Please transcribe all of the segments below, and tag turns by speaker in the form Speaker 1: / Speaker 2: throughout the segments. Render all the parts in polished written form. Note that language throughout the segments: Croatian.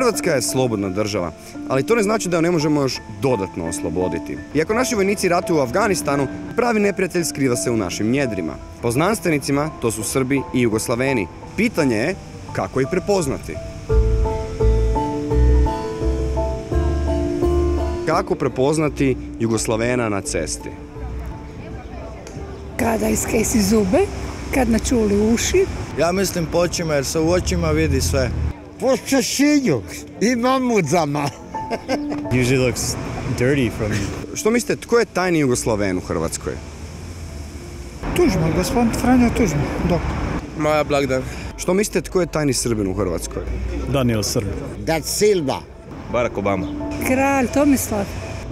Speaker 1: Hrvatska je slobodna država, ali to ne znači da ju ne možemo još dodatno osloboditi. Iako naši vojnici ratuju u Afganistanu, pravi neprijatelj skriva se u našim njedrima. Po znanstvenicima, to su Srbi i Jugoslaveni. Pitanje je kako ih prepoznati. Kako prepoznati Jugoslavena na cesti?
Speaker 2: Kada iskesi zube, kad načuli uši.
Speaker 3: Ja mislim po očima, jer se u očima vidi sve.
Speaker 4: Po češinju i mamudzama.
Speaker 5: Usually looks dirty from...
Speaker 1: Što mislite, tko je tajni Jugoslaven u Hrvatskoj?
Speaker 6: Tuđman, gospodin Franjo Tuđman, doktor.
Speaker 3: Maja Blagdan.
Speaker 1: Što mislite, tko je tajni Srbin u Hrvatskoj?
Speaker 5: Daniel Srbin.
Speaker 4: Da Silva.
Speaker 3: Barack Obama.
Speaker 2: Kralj Tomislav.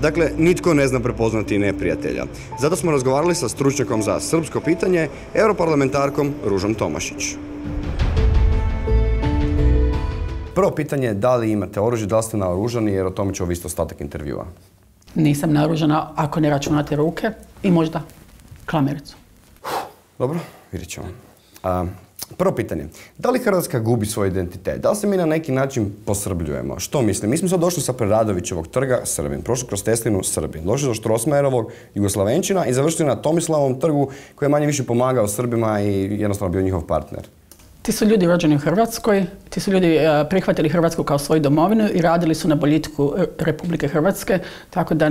Speaker 1: Dakle, nitko ne zna prepoznati neprijatelja. Zato smo razgovarali sa stručnjakom za srpsko pitanje, europarlamentarkom Ružom Tomašić. Prvo pitanje je da li imate oružje, da li ste naoružani, jer o tome će ovisiti ostatak intervjua.
Speaker 7: Nisam naoružana ako ne računate ruke i možda klamericu.
Speaker 1: Dobro, vidjet ćemo. Prvo pitanje, da li Hrvatska gubi svoj identitet? Da li se mi na neki način posrbljujemo? Što mislim? Mi smo sad došli sa Preradovićevog trga, Srbin, prošli kroz Teslinu, Srbin, došli do Štrosmajerovog, Jugoslavenčina i završili na Tomislavovom trgu koji je manje više pomagao Srbima i jednostavno bio njihov partner.
Speaker 7: Ti su ljudi rođeni u Hrvatskoj, ti su ljudi prihvatili Hrvatsku kao svoju domovinu i radili su na boljitku Republike Hrvatske, tako da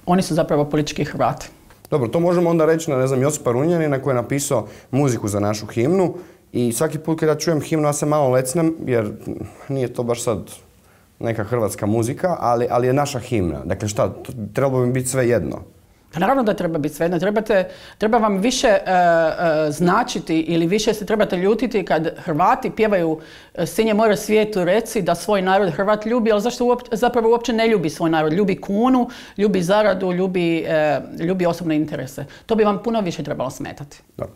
Speaker 7: oni su zapravo politički Hrvati.
Speaker 1: Dobro, to možemo onda reći na, ne znam, Josipa Runjanina koji je napisao muziku za našu himnu i svaki put kada čujem himnu ja se malo lecnem jer nije to baš sad neka hrvatska muzika, ali je naša himna. Dakle šta, trebalo bi biti sve jedno.
Speaker 7: Pa naravno da treba biti svejedno. Treba vam više značiti ili više se trebate ljutiti kad Hrvati pjevaju Sinje more svijetu reci da svoj narod Hrvat ljubi, ali zašto zapravo uopće ne ljubi svoj narod? Ljubi kunu, ljubi zaradu, ljubi osobne interese. To bi vam puno više trebalo smetati.
Speaker 1: Da.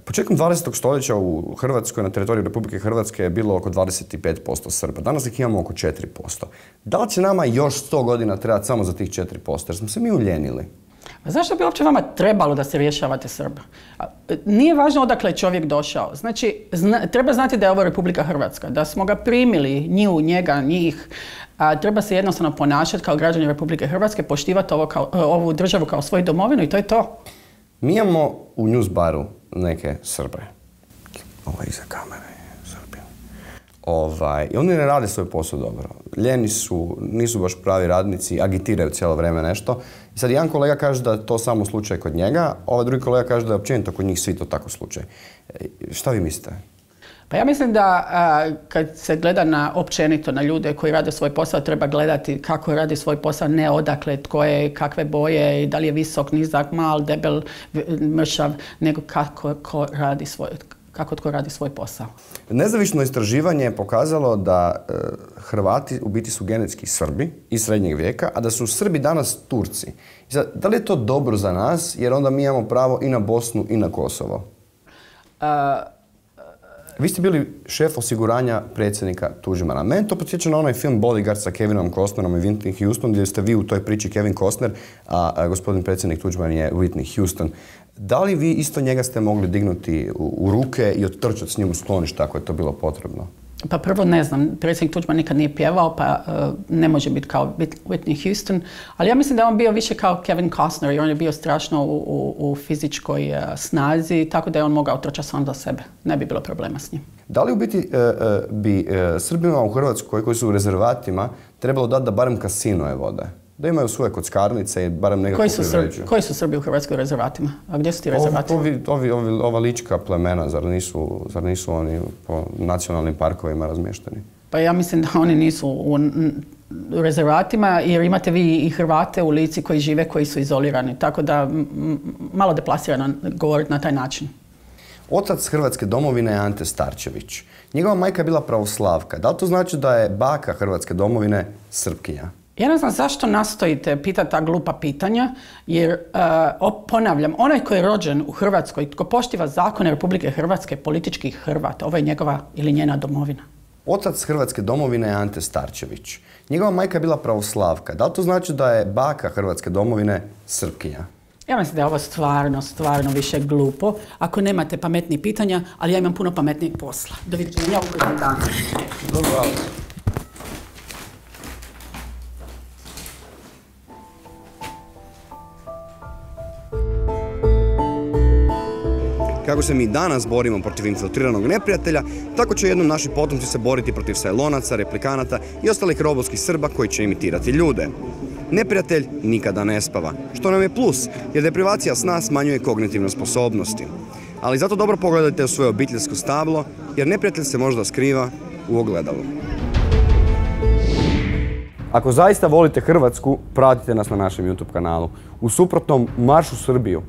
Speaker 1: Početkom 20. stoljeća u Hrvatskoj, na teritoriju Republike Hrvatske je bilo oko 25% Srba. Danas ih imamo oko 4%. Da li će nama još 100 godina trebati samo za tih 4%? Jer smo se mi uljenili.
Speaker 7: Zašto bi uopće vama trebalo da se rješavate Srba? Nije važno odakle je čovjek došao. Znači, treba znati da je ovo Republika Hrvatska, da smo ga primili, nju, njega, njih. Treba se jednostavno ponašati kao građani Republike Hrvatske, poštivati ovu državu kao svoju domovinu i to je to.
Speaker 1: Mi imamo u Newsbaru neke Srbe. Ovo iza kamere je Srbin. I oni ne rade svoj posao dobro. Ljeni su, nisu baš pravi radnici, agitiraju cijelo vrijeme nešto. I sad jedan kolega kaže da je to samo slučaj kod njega, ovaj drugi kolega kaže da je općenito kod njih svi to tako slučaj. Šta vi mislite?
Speaker 7: Pa ja mislim da kad se gleda općenito na ljude koji rade svoj posao, treba gledati kako radi svoj posao, ne odakle, tko je, kakve boje, da li je visok, nizak, mal, debel, mršav, nego kako tko radi svoj posao.
Speaker 1: Nezavisno istraživanje je pokazalo da Hrvati u biti su genetski Srbi iz srednjeg vijeka, a da su Srbi danas Turci. I sad, da li je to dobro za nas, jer onda mi imamo pravo i na Bosnu i na Kosovo? Vi ste bili šef osiguranja predsjednika Tuđmana. Meni to podsjeća na onaj film Bodyguard sa Kevinom Costnerom i Whitney Houston, gdje ste vi u toj priči Kevin Costner, a gospodin predsjednik Tuđman je Whitney Houston. Da li vi isto njega ste mogli dignuti u ruke i ottrčati s njim u sklonište ako je to bilo potrebno?
Speaker 7: Pa prvo ne znam, predsjednik Tuđman nikad nije pjevao, pa ne može biti kao Whitney Houston, ali ja mislim da je on bio više kao Kevin Costner, jer on je bio strašno u fizičkoj snazi, tako da je on mogao trčati sam do sebe. Ne bi bilo problema s njim.
Speaker 1: Da li u biti bi Srbima u Hrvatskoj koji su u rezervatima trebalo dati da barem kasinoje vode? Da imaju svoje kockarnice i barem nekako privređuju.
Speaker 7: Koji su Srbi u Hrvatskoj rezervatima? A gdje su ti rezervati?
Speaker 1: Ova lička plemena, zar nisu oni po nacionalnim parkovima razmješteni?
Speaker 7: Pa ja mislim da oni nisu u rezervatima, jer imate vi i Hrvate u Lici koji žive, koji su izolirani. Tako da malo deplasirano govoriti na taj način.
Speaker 1: Otac Hrvatske domovine je Ante Starčević. Njegova majka je bila pravoslavka. Da li to znači da je baka Hrvatske domovine Srpkinja?
Speaker 7: Ja ne znam zašto nastojite pitati ta glupa pitanja, jer, ponavljam, onaj koji je rođen u Hrvatskoj, tko poštiva zakone Republike Hrvatske, politički Hrvat, ovo je njegova ili njena domovina.
Speaker 1: Otac Hrvatske domovine je Ante Starčević. Njegova majka je bila pravoslavka. Da li to znači da je baka Hrvatske domovine Srpkinja?
Speaker 7: Ja mislim da je ovo stvarno više glupo. Ako nemate pametnih pitanja, ali ja imam puno pametnijeg posla. Doviđenja, ugodan dan.
Speaker 1: Dobro. Kako se mi danas borimo protiv infiltriranog neprijatelja, tako će jednom naši potomci se boriti protiv sajlonaca, replikanata i ostalih robotskih Srba koji će imitirati ljude. Neprijatelj nikada ne spava, što nam je plus, jer deprivacija sna smanjuje kognitivne sposobnosti. Ali zato dobro pogledajte u svoje obiteljsko stablo, jer neprijatelj se možda skriva u ogledalu. Ako zaista volite Hrvatsku, pratite nas na našem YouTube kanalu. U suprotnom, marš u Srbiju!